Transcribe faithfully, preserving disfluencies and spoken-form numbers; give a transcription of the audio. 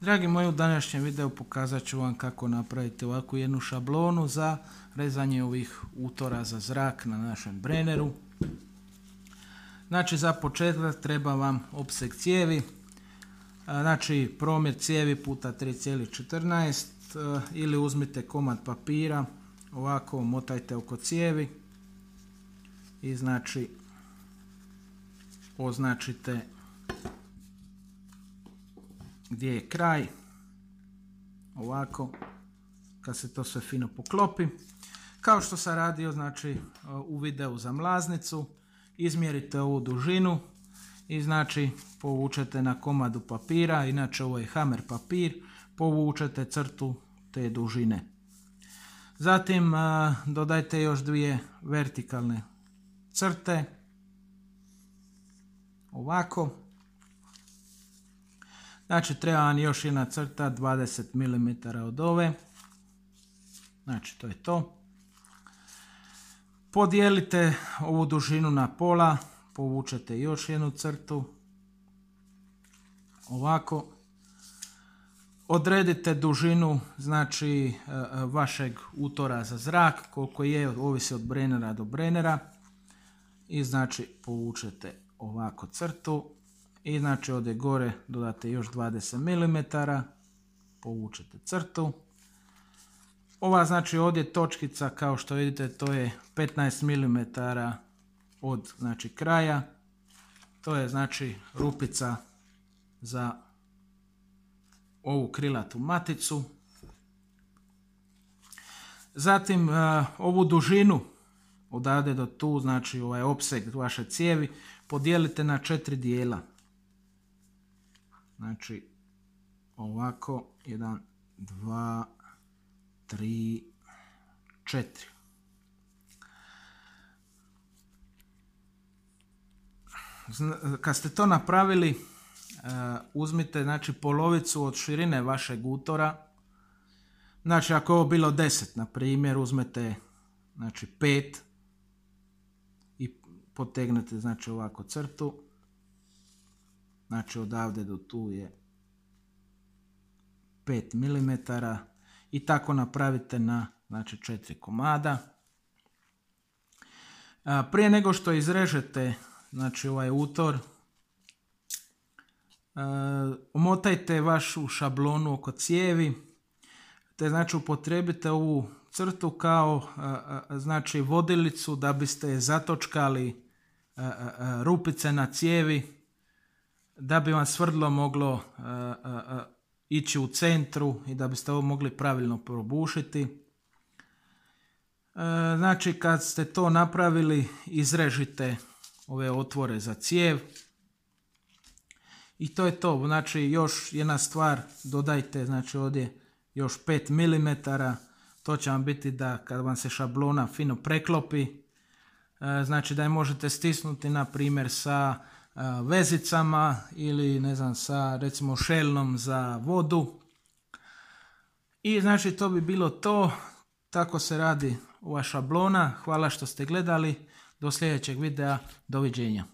Dragi moji, u današnjem videu pokazat ću vam kako napraviti ovakvu jednu šablonu za rezanje ovih utora za zrak na našem breneru. Znači za početak treba vam opseg cijevi, znači promjer cijevi puta tri zarez četrnaest ili uzmite komad papira, ovako motajte oko cijevi i znači označite gdje je kraj, ovako, kad se to sve fino poklopi. Kao što sam radio znači u videu za mlaznicu, izmjerite ovu dužinu i znači povučete na komadu papira, inače ovo je hamer papir, povučete crtu te dužine. Zatim a, dodajte još dvije vertikalne crte, ovako. Znači treba vam još jedna crta dvadeset milimetara od ove. Znači to je to. Podijelite ovu dužinu na pola, povučete još jednu crtu. Ovako. Odredite dužinu znači vašeg utora za zrak, koliko je, ovisi od brenera do brenera. I znači povučete ovako crtu. I znači ovdje gore dodate još dvadeset milimetara, povučete crtu. Ova znači ovdje točkica, kao što vidite, to je petnaest milimetara od znači kraja. To je znači rupica za ovu krilatu maticu. Zatim uh, ovu dužinu odavde do tu, znači ovaj opseg vaše cijevi, podijelite na četiri dijela. Znači ovako, jedan, dva, tri, četiri. Kad ste to napravili, uh, uzmite znači polovicu od širine vašeg utora. Znači ako je ovo bilo deset, na primjer, uzmete znači pet i potegnete znači ovako crtu. Znači odavde do tu je pet milimetara i tako napravite na znači četiri komada. A, prije nego što izrežete znači ovaj utor, a, omotajte vašu šablonu oko cijevi, te znači upotrijebite ovu crtu kao a, a, znači vodilicu da biste zatočkali a, a, a, rupice na cijevi, da bi vam svrdlo moglo uh, uh, uh, ići u centru i da biste ovo mogli pravilno probušiti. Uh, znači kad ste to napravili, izrežite ove otvore za cijev. I to je to. Znači još jedna stvar, dodajte znači ovdje još pet milimetara. To će vam biti da kad vam se šablona fino preklopi, uh, znači da je možete stisnuti na primjer sa vezicama ili ne znam sa recimo šelnom za vodu. I znači to bi bilo to. Tako se radi ova šablona. Hvala što ste gledali. Do sljedećeg videa. Doviđenja.